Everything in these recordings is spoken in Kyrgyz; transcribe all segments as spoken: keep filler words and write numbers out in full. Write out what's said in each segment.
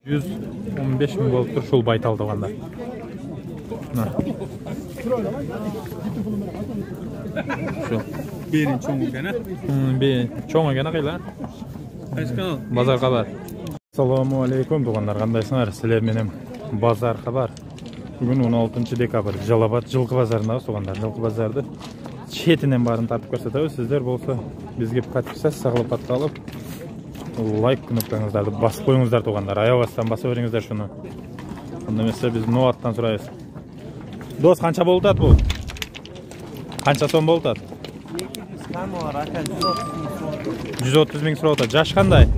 жүз он беш миң болуп тур ушул байтал туугандар. Ушул. Берин чоң экен, а? Бе, чоң экен акыйла. Кайсы канал? Базар кабар. Ассаламу алейкум туугандар, кандайсыңар? Силер менен Базар кабар. Бүгүн он алтынчы декабрь, Жалал Абад жылкы базарындабыз туугандар. Жылкы базарды четинен барын тартып көрсөтөбүз. Сиздер болсо бизге подписаться кылып, аткалып, лайк кнопкаңыздарды басып коюңуздар туугандар. Аябастан баса бериңиздер шуну. Анда эмесе биз Ноаттан сурайбыз. Дос, канча болуп атат бул? Канча сом болуп атат? жүз отуз миң сурап атат. Жаш кандай?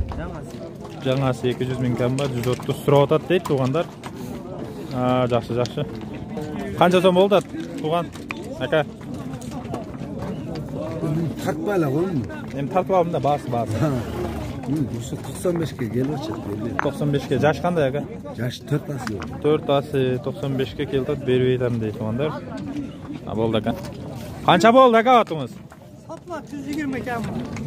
Жаңасы эки жүз миң кам бар, жүз отуз сурап атат дейт туугандар. А, жакшы, жакшы. Канча сом болуп атат тууган? Ака. Тартпай эле коймун. Эми тартып алдым да, баасы, баасы. Ушу токсон бешке келип атат. токсон бешке. Жаш кандай ака? Жаш төрт асы. төрт асы токсон бешке келип атат, бербей атам дейт туугандар. А болду ака. Канча болду ака атыңыз? Satlar жүз жыйырма кам.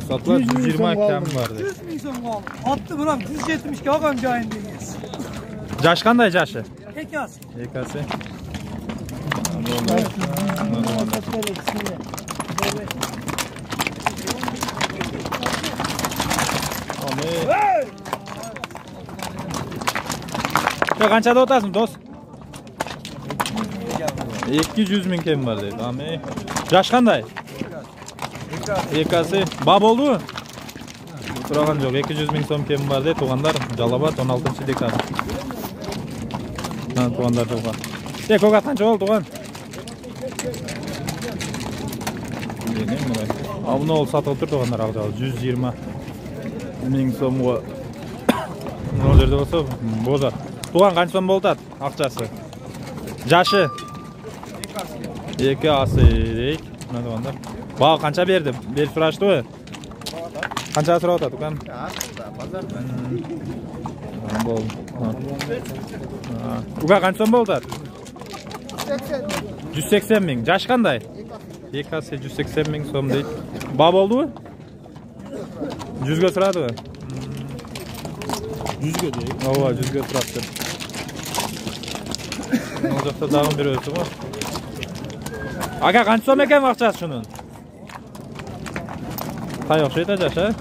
Satlar жүз жыйырма кам бар. жүз миң сом калды. Атты бирок жүз жетимишке алган жайын деңиз. Жаш кандай жашы? эки асы. эки асы. Эй! Канча деп атасың, дос? эки жүз миң кем бар дейт. Ами. Жаш кандай? эки асы. Ба болдубу? Сураган жок. эки жүз миң сом кем бар дейт туугандар. Жалал Абад он алтынчы декабрь. Ана туугандар жолга. Э, кога канча болду тууган? А муну ол сатылып тур туугандар, ал жагы жүз жыйырма миң сомго. Мына жерде болсо бозар. Тууган канча сом болуп атат акчасы? Жашы? эки асы дейт. Мына туугандар. Бага канча берди? Берип сураштыбы? Канча сурап атат тууган? Базарда. Бол. Уга канча сом болуп атат? жүз сексен миң. Жаш кандай? эки асы жүз сексен миң сом дейт. Ба болдубу? жүзгө сурадыбы? жүзгө дейт. Ооба, жүзгө турат. Ал жакта дагы бирөөсү го. Ага, канча сом экен акчасы шунун? Тай окшойт жаш, а?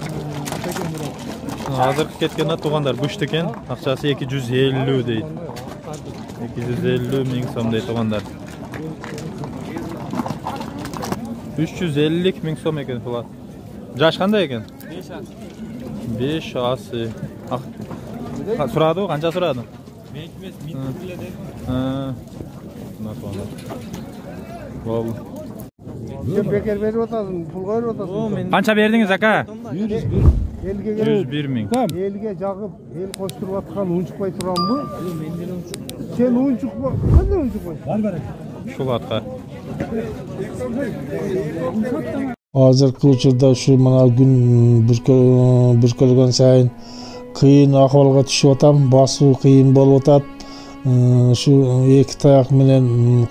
Азыркы кеткен туугандар күчтүү экен. Акчасы эки жүз элүү дейт. эки жүз элүү миң сом дейт туугандар. үч жүз элүү миң сом экен булат. Жаш кандай экен? беш асы. беш асы. Сурадыбы? Канча сурадың? Мен эмес, мен биле дедим. Ха. Мына туугандар. Болду. Сен бекер берип атасың, пул коюп атасың. Канча бердиңиз ака? жүз бир. Элге келип, жүз бир миң. элге жагып, эл коштуруп аткан унчукпай турамбы? Сен унчукпа, кандай унчукпай? Бар бар. Ушул атка. Азыркы учурда ушу мына күн бүркөлгөн сайын кыйын акыбалга түшүп атам, басуу кыйын болуп атат. Ушу эки таяк менен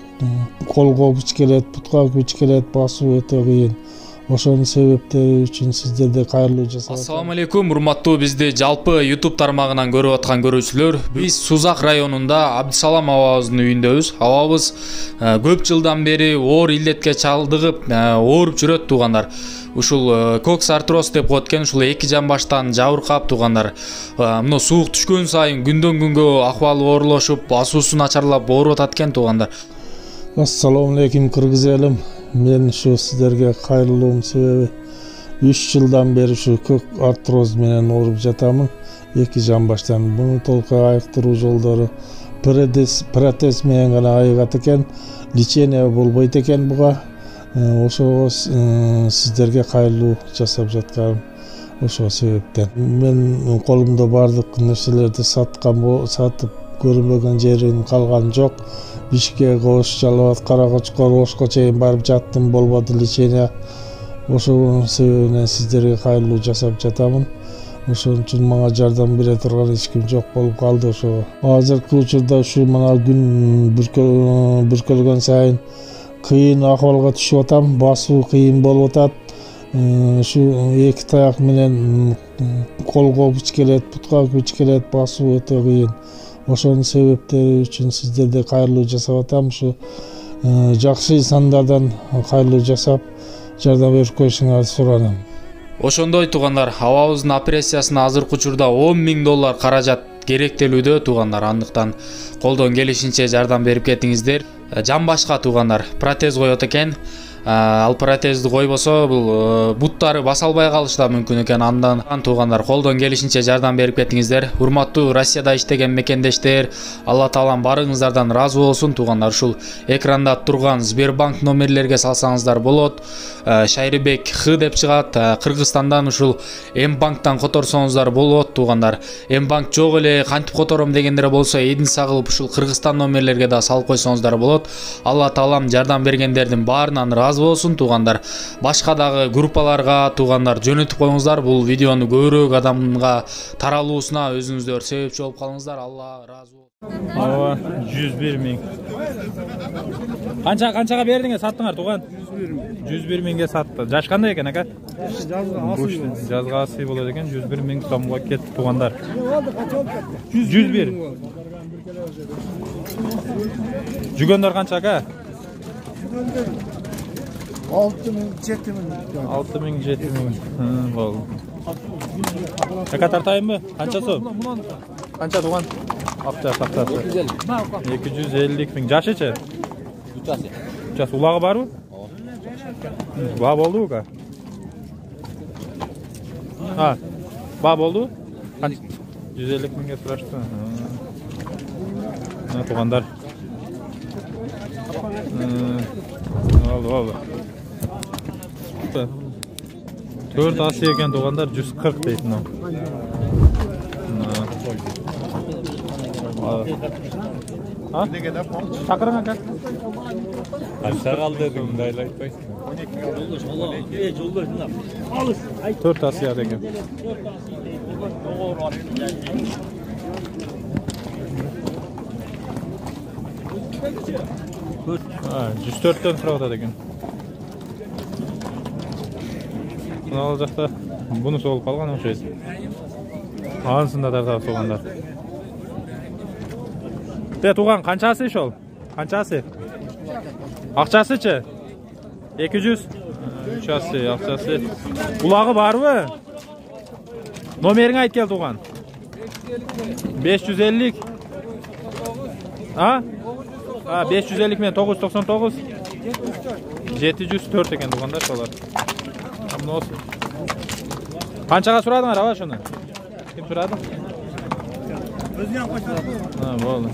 колго күч келет, бутка күч келет, басуу өтө кыйын. Ошонун себептери үчүн сиздерде кайрылуу жасап. Ассаламу алейкум, урматтуу бизди жалпы YouTube тармагынан көрүп аткан көрүүчүлөр. Биз Сузак районунда Абдысалам абабыздын үйүндөбүз. Абабыз көп жылдан бери оор илдетке чалдыгып, ооруп жүрөт туугандар. Ушул кокс артроз деп коет экен, ушул эки жамбаштан жабыркап туугандар. Мына суук түшкөн сайын күндөн күнгө акыбалы оорлошуп, басуусу начарлап ооруп атат экен туугандар. Ассаламу алейкум кыргыз элим. Мен ушу сиздерге кайрылуум себеби үч жылдан бери ушу көк артроз менен ооруп жатамын. Эки жамбаштан. Буну толук айыктыруу жолдору протез менен гана айыгат экен. Лечение болбойт экен буга. Ошого сиздерге кайрылуу жасап жатканым ошол себептен. Мен колумда бардык нерселерди саткан, сатып көрүнбөгөн жерин калган жок. Бишкек, Ош, Жалал Абад, Каракочкор, Ошко чейин барып жаттым, болбоду лечение. Ошонун себебинен сиздерге кайрылуу жасап жатамын. Ошон үчүн мага жардам бере турган эч ким жок болуп калды ошого. Азыркы учурда ушу мына күн бүркөлгөн сайын кыйын акыбалга түшүп атам, басуу кыйын болуп атат. Ушу эки таяк менен колго күч келет, бутка күч келет, басуу өтө кыйын. Ошонун себептери үчүн сиздерге кайрылуу жасап атам. Ушу жакшы сандардан кайрылуу жасап жардам берип коюшуңарды суранам. Ошондой туугандар, абабыздын операциясына азыркы учурда он миң доллар каражат керектелүүдө туугандар. Андыктан колдон келишинче жардам берип кетиңиздер. Жан башка туугандар, протез коет экен. Ал протезди койбосо бул буттары баса албай калышы да мүмкүн экен. Андан туугандар колдон келишинче жардам берип кетиңиздер. Урматтуу Россияда иштеген мекендештер, Алла таалам барыңыздардан ыраазы болсун туугандар. Ушул экранда турган Сбербанк номерлерге салсаңыздар болот. Шайрыбек Х деп чыгат. Кыргызстандан ушул М-банктан которсоңуздар болот туугандар. М-банк жок эле кантип котором дегендер болсо, эдин сагылып ушул Кыргызстан номерлерге да салып койсоңуздар болот. Алла таалам жардам бергендердин баарынан ыраазы болсун туугандар. Башка дагы группаларга туугандар жөнөтүп коюңуздар. Бул видеону көбүрөөк адамга таралуусуна өзүңүздөр себепчи болуп калыңыздар. Алла ыраазы болсун. Ооба, жүз бир миң. Канча канчага бердиңер, саттыңар тууган? жүз бир миңге сатты. Жаш кандай экен ака? Жазга асый болот экен, жүз бир миң сомго кетти туугандар. жүз бир. Жүгөндөр канча ака? алты миң, жети миң. алты миң, жети миң. Болду. Ака тартайынбы? Канча сом? Канча тууган? Акча сактасы. эки жүз элүү миң. Жашычы? үч жаш. үч жаш. Улагы барбы? Ба болду ка? А, ба болду? жүз элүү миңге сурашты. Мына туугандар. Oldu, oldu. Dört Asya ekan tug'anlar жүз кырк deydi. Ha? Chaqiring aka. Qancha qoldi dedim, undaylar aytmaysiz. to'rt Asya ekan. Ha, жүз төрттөн сурап атат экен. Мына жакта буну болуп калган окшойт. Анысында тартап солгандар. Те туган канчасы ошол? Канчасы? Акчасычы? эки жүз. үч асы, акчасы. Улагы барбы? Номериңи айт кел туган. беш жүз элүү. А? А, беш жүз элүү менен тогуз жүз токсон тогуз. жети жүз төрт экен тугандар солар. Амнос. Канчага сурадыңар аба шуну? Ким сурады? Өзүнө койсоң. Ha, болду.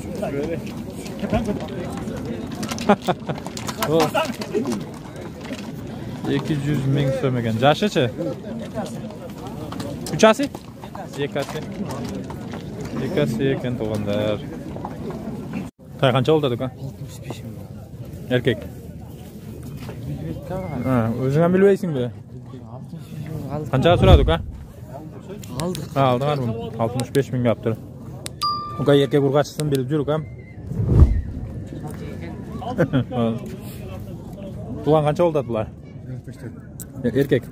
эки жүз миң сом экен. Жашычы? үч асы? эки асы. эки асы экен тугандар. Тай канча болду ка? алтымыш беш миң. Эркек. Ha, өзүңө билбейсиңби? Канчага сурады ка? Алдык. Ha, алдыңарбы? алтымыш беш миңге аптыр. Ука эркек ургачысын билип жүрүк ам. Туган канча болду булар? Эркек.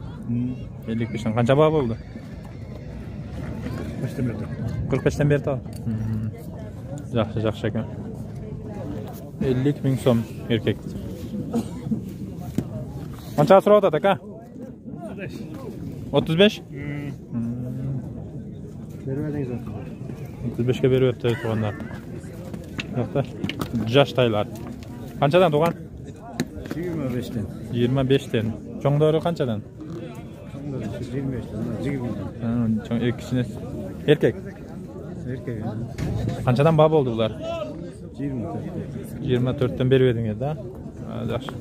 элүү бештен канча баа болду? кырк бештен берди ал. Жакшы, жакшы экен. элүү миң сом эркек. Канча сурап атат ака? отуз беш. отуз бешке берип атты тугандар. Жакта. Жаштайлар. Канчадан туган? жыйырма бештен. жыйырма бештен. Чоңдору канчадан? жыйырма бештен. жыйырма. Чоң экисине. Эркек. Эркек. Канчадан баа болду булар? жыйырма төрт. жыйырма төрттөн берип едиңер да? Жакшы.